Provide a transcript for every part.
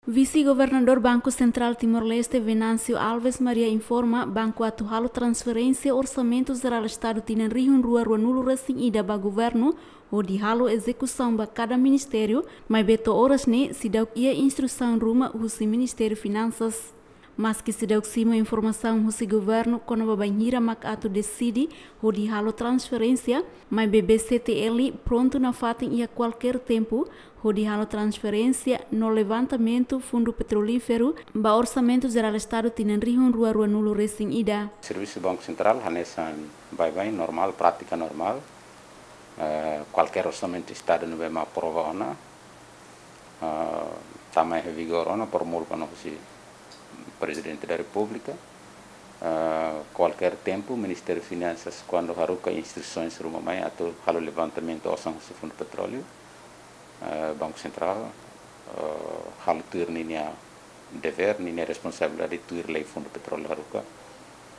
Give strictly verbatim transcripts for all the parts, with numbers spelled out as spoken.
Vise-Governadór Banku Sentrál Timor-Leste, Venâncio Alves Maria, informa banku atu halo transferénsia Orsamentu Jerál Estadu tinan rihun rua ruanulu resin ida ba governu, hodi halo ezekusaun ba kada ministériu, maibé to'o oras ne'e seidauk iha instrusaun ruma husi Ministériu Finansas. Maski seidauk simu informasaun husi governu kona-ba bainhira mak atu deside hodi halo transferénsia, maibé B C T L prontu nafatin iha kualkér tempu hodi halo transferénsia no levantamentu fundu petrolíferu ba Orsamentu Jerál Estadu tinan rihun rua ruanulu resin ida. Servisu Banku Sentrál hanesan baibain normál, prátika normál. Eh, kualkér orsamentu Estadu ne'ebé mak aprova ona, eh, tama iha vigór ona, promulga ona husi Prezidente da Repúblika. Eh, kualkér tempu, Ministériu Finansas, kuandu haruka instrusaun ruma mai atu halo levantamentu osan husi Fundu Petróleu, eh, Banku Sentrál, eh, halo tuir ninia devér, ninia responsabilidade tuir lei Fundu Petróleu haruka,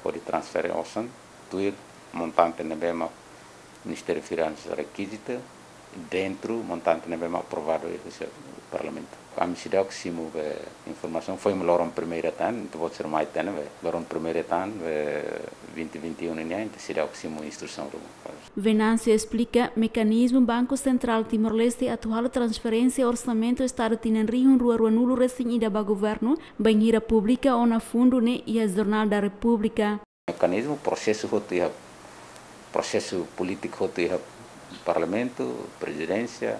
hodi transfere osan tuir montante ne'ebé mak Ministériu Finansas rekizita, dentru montante ne'ebé mak aprovadu iha husi Parlamentu. Ami seidauk simu be informasaun, foin loron primeira tan, entaun vou ser mai tan be loron primeira tan be vinte vinte e um nian, entaun seidauk simu instrusaun ruma. Venâncio esplika mekanizmu Banku Sentrál Timor-Leste atu halo transferénsia Orsamentu Estadu tinan rihun rua ruanulu resin ida ba governu, bainhira publika ona fundu ne'e iha Jornál da Repúblika. Mekanizmu, prosesu hotu iha, prosesu polítiku hotu iha Parlamentu, Prezidénsia,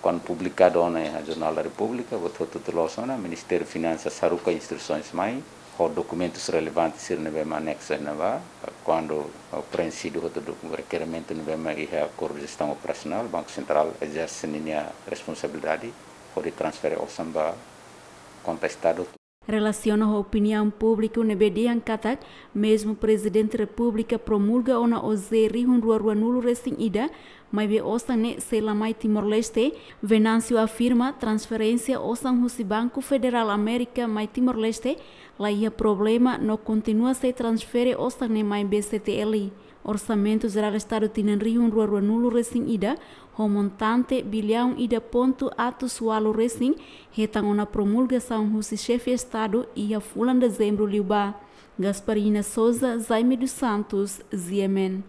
kuandu publikadu ona iha Jornál da Repúblika, buat hotu-hotu loos ona, Ministériu Finansas haruka instrusaun mai, ho dokumentus relevante sira ne'ebé mak aneksu iha ne'ebá, kuandu, eh, preenxidu hotu do-, rekerimentu ne'ebé mak iha akordu jestaun operasionál, Banku Sentrál ezerse ninia responsabilidade hodi transfere osan ba konta Estadu. Relasiona ho opiniaun públiku ne'ebé dehan katak, mezmu Prezidente Repúblika promulga ona O J rihun rua ruanulu resin ida, maibé osan ne'e sei la mai Timor-Leste, Venâncio afirma transferénsia osan husi Banku Federál Amérika mai Timor-Leste la iha problema no kontinua sei transfere osan ne'e mai B C T L. Orsamentu Jerál Estadu tinan rihun rua ruanulu resin ida, ho montante biliaun ida pontu atus ualu resin, hetan ona promulgasaun husi Xefe Estadu iha fulan Dezembru liubá. Gasparina Sousa, Jaime dos Santos, G M N.